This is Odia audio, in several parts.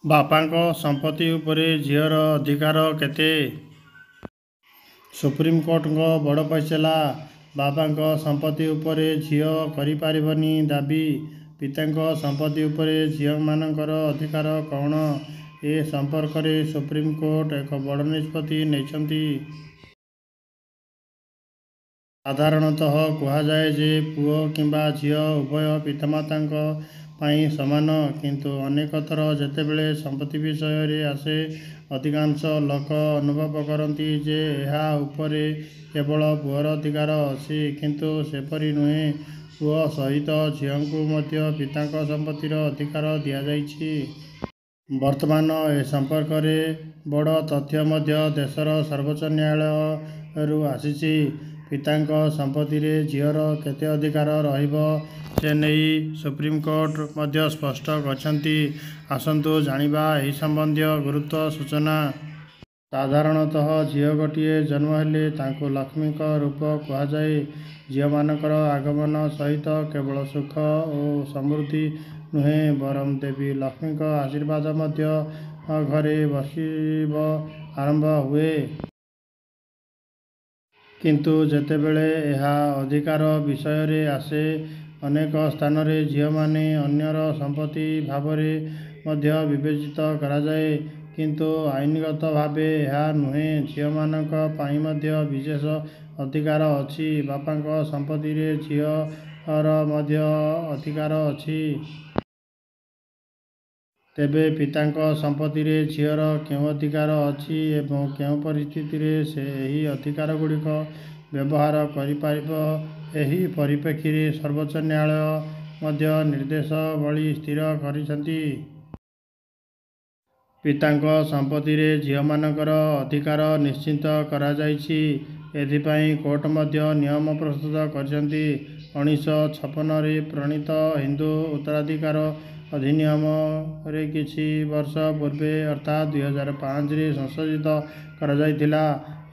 ବାପାଙ୍କ ସମ୍ପତ୍ତି ଉପରେ ଝିଅର ଅଧିକାର କେତେ? ସୁପ୍ରିମକୋର୍ଟଙ୍କ ବଡ଼ ଫଇସଲା, ବାପାଙ୍କ ସମ୍ପତ୍ତି ଉପରେ ଝିଅ କରିପାରିବନି ଦାବି। ପିତାଙ୍କ ସମ୍ପତ୍ତି ଉପରେ ଝିଅମାନଙ୍କର ଅଧିକାର କ'ଣ? ଏ ସମ୍ପର୍କରେ ସୁପ୍ରିମକୋର୍ଟ ଏକ ବଡ଼ ନିଷ୍ପତ୍ତି ନେଇଛନ୍ତି। ସାଧାରଣତଃ କୁହାଯାଏ ଯେ ପୁଅ କିମ୍ବା ଝିଅ ଉଭୟ ପିତାମାତାଙ୍କ ପାଇଁ ସମାନ। କିନ୍ତୁ ଅନେକ ଥର ଯେତେବେଳେ ସମ୍ପତ୍ତି ବିଷୟରେ ଆସେ, ଅଧିକାଂଶ ଲୋକ ଅନୁଭବ କରନ୍ତି ଯେ ଏହା ଉପରେ କେବଳ ପୁଅର ଅଧିକାର ଅଛି। କିନ୍ତୁ ସେପରି ନୁହେଁ, ପୁଅ ସହିତ ଝିଅଙ୍କୁ ମଧ୍ୟ ପିତାଙ୍କ ସମ୍ପତ୍ତିର ଅଧିକାର ଦିଆଯାଇଛି। ବର୍ତ୍ତମାନ ଏ ସମ୍ପର୍କରେ ବଡ଼ ତଥ୍ୟ ମଧ୍ୟ ଦେଶର ସର୍ବୋଚ୍ଚ ନ୍ୟାୟାଳୟରୁ ଆସିଛି। ପିତାଙ୍କ ସମ୍ପତ୍ତିରେ ଝିଅର କେତେ ଅଧିକାର ରହିବ ସେନେଇ ସୁପ୍ରିମକୋର୍ଟ ମଧ୍ୟ ସ୍ପଷ୍ଟ କରିଛନ୍ତି। ଆସନ୍ତୁ ଜାଣିବା ଏହି ସମ୍ବନ୍ଧୀୟ ଗୁରୁତ୍ୱ ସୂଚନା। ସାଧାରଣତଃ ଝିଅ ଗୋଟିଏ ଜନ୍ମ ହେଲେ ତାଙ୍କୁ ଲକ୍ଷ୍ମୀଙ୍କ ରୂପ କୁହାଯାଏ। ଝିଅମାନଙ୍କର ଆଗମନ ସହିତ କେବଳ ସୁଖ ଓ ସମୃଦ୍ଧି ନୁହେଁ ବରଂ ଦେବୀ ଲକ୍ଷ୍ମୀଙ୍କ ଆଶୀର୍ବାଦ ମଧ୍ୟ ଘରେ ବର୍ଷିବ ଆରମ୍ଭ ହୁଏ। କିନ୍ତୁ ଯେତେବେଳେ ଏହା ଅଧିକାର ବିଷୟରେ ଆସେ, ଅନେକ ସ୍ଥାନରେ ଝିଅମାନେ ଅନ୍ୟର ସମ୍ପତ୍ତି ଭାବରେ ମଧ୍ୟ ବିବେଚିତ କରାଯାଏ। କିନ୍ତୁ ଆଇନଗତ ଭାବେ ଏହା ନୁହେଁ। ଝିଅମାନଙ୍କ ପାଇଁ ମଧ୍ୟ ବିଶେଷ ଅଧିକାର ଅଛି। ବାପାଙ୍କ ସମ୍ପତ୍ତିରେ ଝିଅର ମଧ୍ୟ ଅଧିକାର ଅଛି। ତେବେ ପିତାଙ୍କ ସମ୍ପତ୍ତିରେ ଝିଅର କେଉଁ ଅଧିକାର ଅଛି ଏବଂ କେଉଁ ପରିସ୍ଥିତିରେ ସେ ଏହି ଅଧିକାରଗୁଡ଼ିକ ବ୍ୟବହାର କରିପାରିବ ଏହି ପରିପ୍ରେକ୍ଷୀରେ ସର୍ବୋଚ୍ଚ ନ୍ୟାୟାଳୟ ମଧ୍ୟ ନିର୍ଦ୍ଦେଶାବଳୀ ସ୍ଥିର କରିଛନ୍ତି। ପିତାଙ୍କ ସମ୍ପତ୍ତିରେ ଝିଅମାନଙ୍କର ଅଧିକାର ନିଶ୍ଚିତ କରାଯାଇଛି। ଏଥିପାଇଁ କୋର୍ଟ ମଧ୍ୟ ନିୟମ ପ୍ରସ୍ତୁତ କରିଛନ୍ତି। 1956 ରେ ପ୍ରଣୀତ ହିନ୍ଦୁ ଉତ୍ତରାଧିକାର ଅଧିନିୟମ ରେ କିଛି ବର୍ଷ ପୂର୍ବେ ଅର୍ଥାତ୍ 2005 ରେ ସଂଶୋଧିତ କରାଯାଇଥିଲା।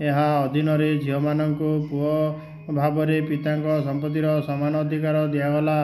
ଏହା ଅଧୀନରେ ଝିଅମାନଙ୍କୁ ପୁଅ ଭାବରେ ପିତାଙ୍କ ସମ୍ପତ୍ତିର ସମାନ ଅଧିକାର ଦିଆଗଲା।